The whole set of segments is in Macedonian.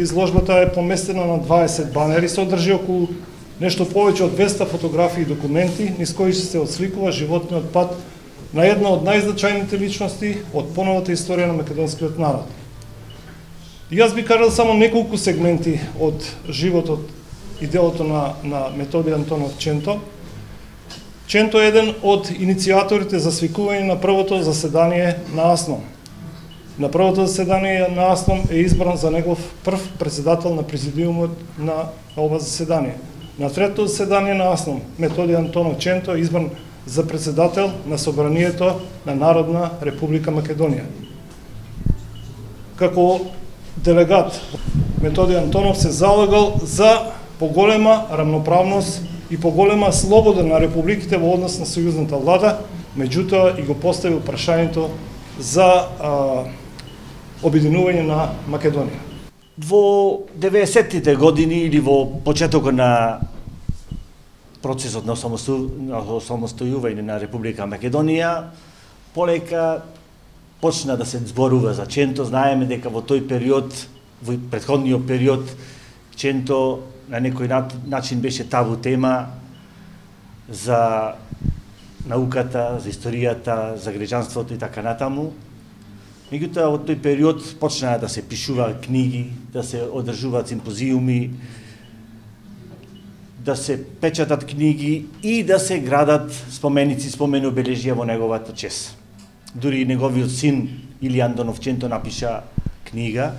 изложбата е поместена на 20 банери, содржи околу нешто повеќе од 200 фотографии и документи, низ кои се отсликува животниот пат на една од најзначајните личности од поновата историја на македонскиот народ. И јас би кажал само неколку сегменти од животот и делото на Методи Антонов Ченто. Ченто е еден од иницијаторите за свикување на првото заседание на АСНОМ. На првото заседание на АСНОМ е избран за негов прв председател на президиумот на ова заседание. На третото заседание на АСНОМ Методи Антонов Ченто е избран за председател на Собранието на Народна Република Македонија. Како делегат Методи Антонов се залагал за поголема рамноправност и поголема слобода на републиките во однос на сојузната влада, меѓутоа и го поставил прашањето за обединување на Македонија. Во 90-тите години или во почетокот на процесот на осамостојување на Република Македонија, полека почна да се зборува за Ченто. Знаеме дека во тој период, во претходниот период, Ченто на некој начин беше табу тема за науката, за историјата, за граѓанството и така натаму. Меѓутоа, во тој период почнаа да се пишуваат книги, да се одржуваат симпозиуми, да се печатат книги и да се градат споменици, спомени обележија во неговата чест. Дури и неговиот син Илијан Антонов Ченто напиша книга.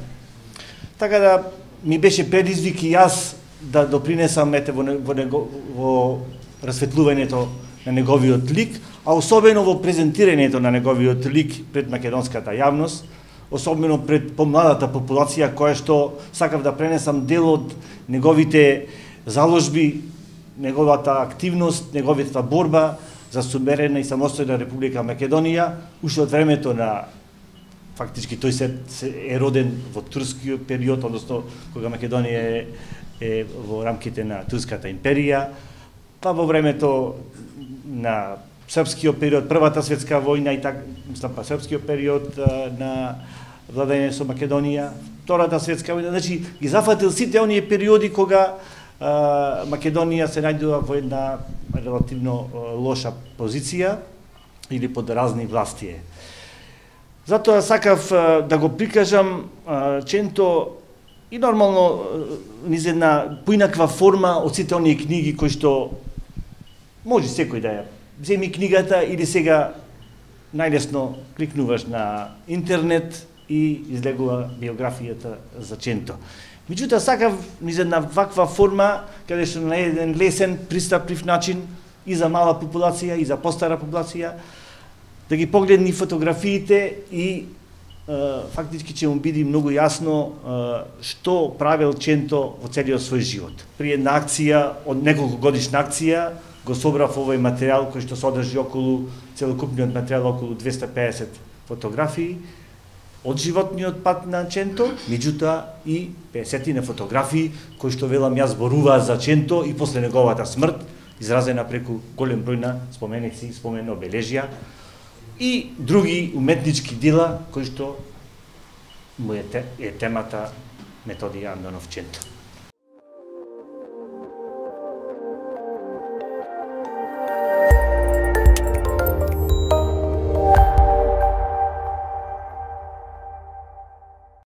Така да ми беше предизвик и јас да допринесам во расветлувањето на неговиот лик, а особено во презентирањето на неговиот лик пред македонската јавност, особено пред помладата популација, која што сакав да пренесам дел од неговите заложби, неговата активност, неговата борба за суверена и самостојна Република Македонија, уште од времето на фактички тој се е роден во турскиот период, односно кога Македонија е во рамките на Турската империја, па во времето на српскиот период, Првата светска војна и така, па српскиот период на владење со Македонија, Втората светска војна, значи ги зафатил сите оние периоди кога Македонија се најдува во една релативно лоша позиција или под разни власти. Затоа сакав да го прикажам Ченто и нормално низ една поинаква форма од сите оние книги кои што може секој да ја земи книгата или сега најлесно кликнуваш на интернет и излегува биографијата за Ченто. Меѓутоа сакав низ една ваква форма, каде што на еден лесен, пристапив начин и за мала популација и за постара популација, да ги погледни фотографиите и фактички ќе му биде многу јасно што правел Ченто во целиот свој живот. При една акција, од неколку годишна акција, го собрав овој материјал кој што содржи околу, целокупниот материјал околу 250 фотографии од животниот пат на Ченто, меѓутоа и 50 фотографии кои што велам јас зборуваат за Ченто и после неговата смрт, изразена преку голем број на споменици, спомени обележја и други уметнички дела кои што му е темата Методи Антонов Ченто.